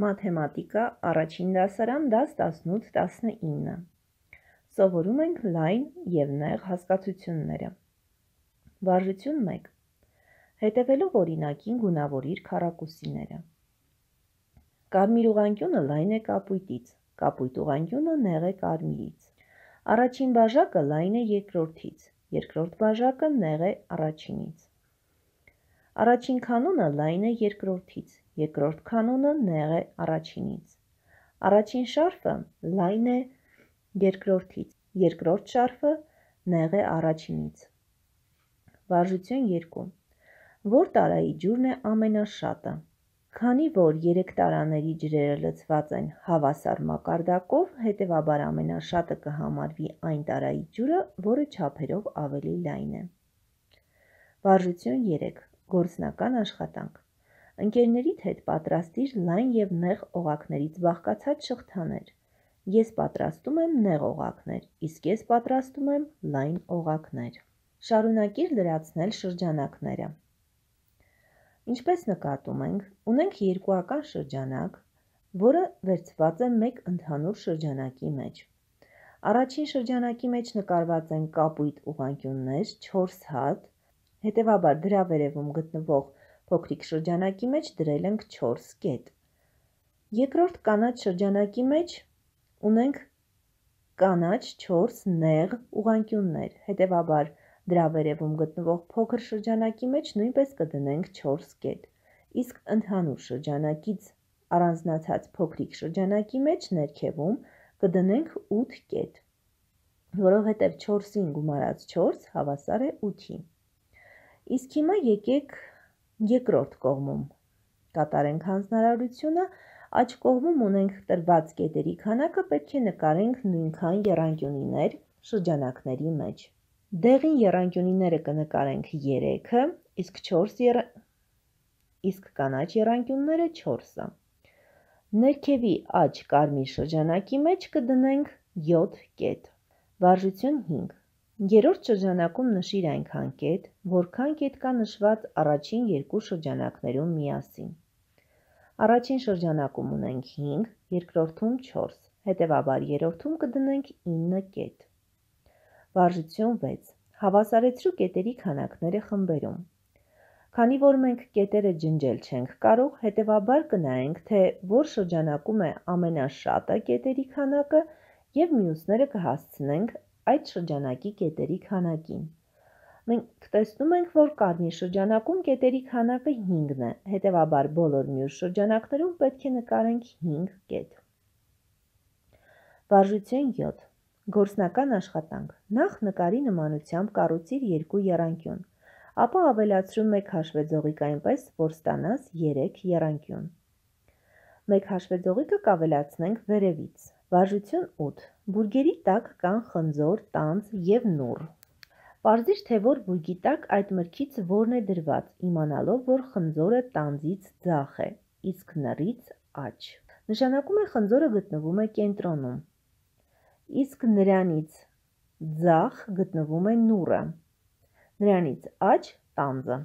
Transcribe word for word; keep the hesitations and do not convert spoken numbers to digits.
Մաթեմատիկա առաջին դասարան դաս տասնութ տասնինը Սովորում ենք լայն և նեղ հասկացությունները։ Վարժություն մեկ. Հետևելով օրինակին գունավորիր քառակուսիները։ Կարմիր ուղղանկյունը լայն է կապույտից, կապույտ ուղղանկյունը նեղ է կարմիրից։ Առաջին բաժակը լայն է երկրորդից, երկրորդ բաժակը նեղ է առաջինից։ Առաջին քանունը լայն է երկրորդից, երկրորդ քանունը նեղ է առաջինից։ Առաջին շարֆը լայն է երկրորդից, երկրորդ շարֆը նեղ է առաջինից։ Վարժություն երկու. Որ տարայի ջուրն է ամենաշատը։ Քանի որ երեք տարաների ջրերը լցված են հավասար մակարդակով, հետևաբար ամենաշատը կհամարվի այն տարայի ջուրը, որը չափերով ավելի լայն է։ Վարժություն երեք. Գործնական աշխատանք։ Ընկերներիդ հետ պատրաստիր լայն և նեղ օղակներից բաղկացած շղթաներ։ Ես պատրաստում եմ նեղ օղակներ, իսկ ես պատրաստում եմ լայն օղակներ։ Շարունակիր լրացնել շրջանակները։ Ինչպես նկատում ենք, ունենք երկուական շրջանակ, որը վերցված է մեկ ընդհանուր շրջանակի մեջ։ Առաջին շրջանակի մեջ նկարված են կապույտ ուղղանկյուններ չորս հատ, հետևաբար դրա վերևում գտնվող փոքրիկ շրջանակի մեջ դրել ենք չորս կետ։ Երկրորդ կանաչ շրջանակի մեջ ունենք կանաչ չորս նեղ ուղղանկյուններ, հետևաբար դրա վերևում գտնվող փոքր շրջանակի մեջ նույնպես կդնենք չորս կետ, իսկ ընդհանուր շրջանակից առանձնացած փոքրիկ շրջանակի մեջ ներքևում կդնենք ութ կետ, որովհետև չորսին գումարած չորս հավասար է ութի։ Իսկ հիմա եկեք երկրորդ կողմում կատարենք հանձնարարությունը, աջ կողմում ունենք տրված կետերի քանակը, պետք է նկարենք նույնքան եռանկյունիներ շրջանակների մեջ։ Դեղին եռանկյունիները կնկարենք երեքը, իսկ չորս եռ... իսկ կանաչ եռանկյունները չորսը։ Ներքևի աջ կարմիր շրջանակի մեջ կդնենք յոթ կետ։ Վարժություն հինգ. Երրորդ շրջանակում նշիր այնքան կետ, որքան կետ կա նշված առաջին երկու շրջանակներում միասին։ Առաջին շրջանակում ունենք հինգ, երկրորդում չորս, հետևաբար երրորդում կդնենք ինը կետ։ Վարժություն վեց. Հավասարեցրու կետերի քանակները խմբերում։ Քանի որ մենք կետերը ջնջել չենք կարող, հետևաբար կնայենք, թե որ շրջանակում է ամենաշատը կետերի քանակը և մյուսները կհասցնենք այդ շրջանակի կետերի քանակին։ Մենք տեսնում ենք, որ կարմիր շրջանակում կետերի քանակը հինգն է, հետևաբար բոլոր մյուս շրջանակներում պետք է նկարենք հինգ կետ։ Վարժություն յոթ. Գործնական աշխատանք։ Նախ նկարի նմանությամբ կառուցիր երկու եռանկյուն, ապա ավելացրու մեկ հաշվեձողիկ այնպես, որ ստանաս երեք եռանկյուն։ Մեկ հաշվեձողիկը կավելացնենք վերևից։ Վարժություն ութ. Բուրգերի տակ կան խնձոր, տանձ և նուռ։ Պարզիր, թե որ բուրգի տակ այդ մրգից որն է դրված, իմանալով, որ խնձորը տանձից ձախ է, իսկ նռից աջ։ Նշանակում է խնձորը գտնվում է կենտրոնում, իսկ նրանից ձախ գտնվում է նուռը, նրանից աջ տանձը։